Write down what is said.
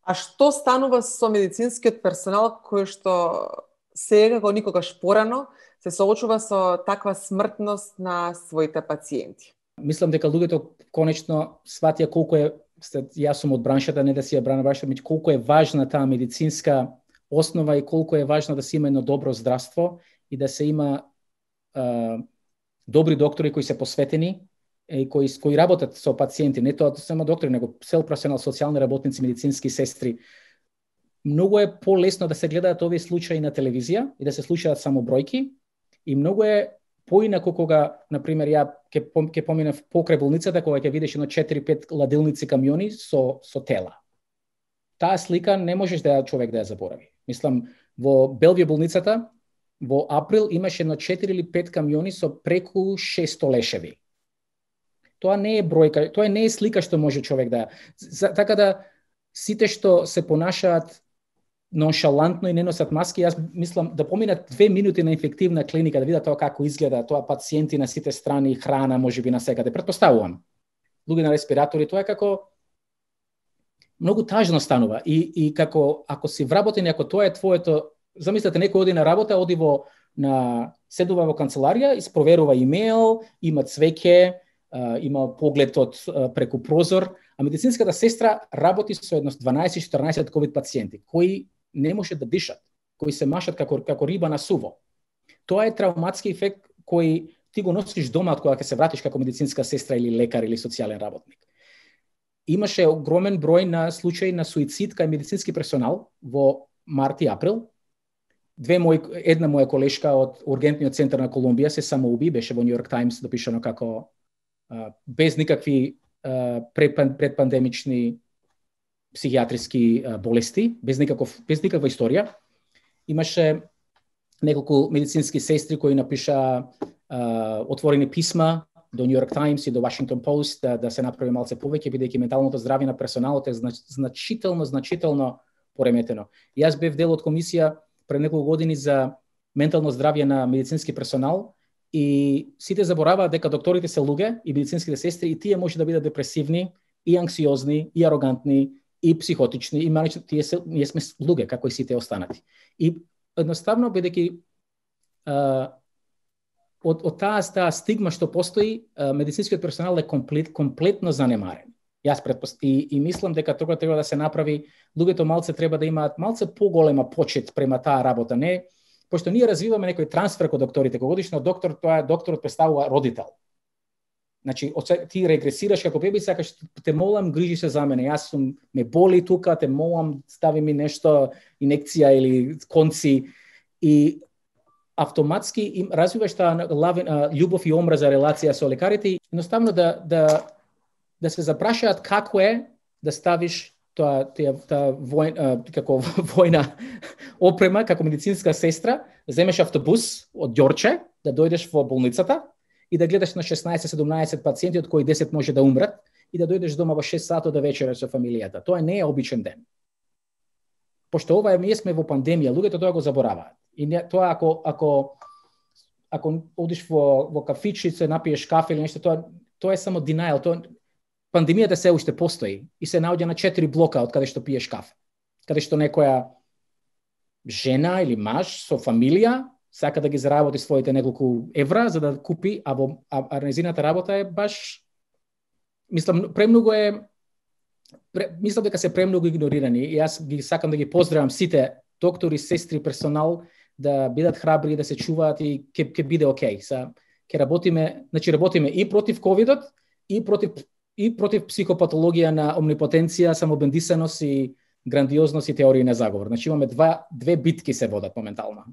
А што станува со медицинскиот персонал кој што сега како никогаш порано се соочува со таква смртност на своите пациенти? Мислам дека луѓето конечно сватија колку е, јас сум од браншата, не да си ја брана браншата, меѓу колку е важна таа медицинска основа и колку е важно да се има едно добро здравство и да се има добри доктори кои се посветени и кои работат со пациенти, не тоа само доктори, него цел професионал, социјални работници, медицински сестри. Многу е полесно да се гледаат овие случаи на телевизија и да се слушаат само бројки и многу е поинако кога, например, ја ќе поминав покрај болницата, кога ќе видиш едно 4-5 ладилници камиони со тела. Таа слика не можеш да човек да ја заборави. Мислам, во Белвиј болницата во април имаше едно 4 или 5 камиони со преку 600 лешеви. Тоа не е бројка, тоа не е слика што може човек да... Така да сите што се понашаат ноншалантно и не носат маски, јас мислам да поминат 2 минути на инфективна клиника, да видат тоа како изгледа, тоа пациенти на сите страни, храна можеби на секаде, претпоставувам. Луѓе на респиратори, тоа е како многу тажно станува и како ако си вработен, ако тоа е твоето, замислете некој оди на работа, оди седува во канцеларија, испроверува имејл, има цвеќе, има поглед од преку прозор, а медицинската сестра работи со едно 12-14 ковид пациенти кои не можат да дишат, кои се машат како риба на суво. Тоа е травматски ефект кој ти го носиш дома кога ќе се вратиш како медицинска сестра или лекар или социјален работник. Имаше огромен број на случаи на суицид кај медицински персонал во март и април. Една моја колешка од ургентниот центар на Колумбија се самоуби, беше во Нью Йорк Таймс допишано како без никакви предпандемични психијатриски болести, без никаква историја. Имаше неколку медицински сестри кои напиша отворени писма до Нью Йорк Таймс и до Вашингтон Пост да се направи малце повеќе, бидејќи менталното здравје на персоналот е значително пореметено. Јас бев дел од комисија пред неколку години за ментално здравје на медицински персонал и сите забораваат дека докторите се луѓе и медицинските сестри и тие може да бидат депресивни и анксиозни и арогантни и психотични и ние сме луѓе како и сите останати. И едноставно бидејќи од таа стигма што постои, медицинскиот персонал е комплетно занемарен. Јас и мислам дека тоа треба да се направи, луѓето малце треба да имаат малце поголема почит према таа работа, не пошто ние развиваме некој трансфер кон докторите, кога одиш на доктор, тоа докторот представува родител. Значи, ти регресираш како беби, сакаш те молам, грижи се за мене. Јас ме боли тука, те молам, стави ми нешто, инекција или конци и автоматски развиваш таа љубов и омраза релација со лекарите, едноставно да се запрашаат како е да ставиш таа како војна опрема, како медицинска сестра, земеш автобус од Ѓорче, да дојдеш во болницата и да гледаш на 16-17 пациенти, од кои 10 може да умрат, и да дојдеш дома во 6 сата да вечераш со фамилијата. Тоа не е обичен ден. Пошто ние сме во пандемија, луѓето тоа го забораваат. И тоа ако одиш во кафичи, се напиеш кафе или нешто, тоа е само denial. Пандемијата се уште постои и се наоѓа на 4 блока од каде што пиеш кафе. Каде што некоја жена или маж со фамилија сака да ги заработи своите неколку евра за да купи, а незината работа е баш, мислам дека се премногу игнорирани. И јас ги сакам да ги поздравам сите доктори, сестри, персонал да бидат храбри, да се чуваат и ќе биде окей. Ќе работиме и против ковидот и против психопатологија на омнипотенција, самобендисаност и грандиозност и теорија на заговор. Значи имаме две битки се водат моментално.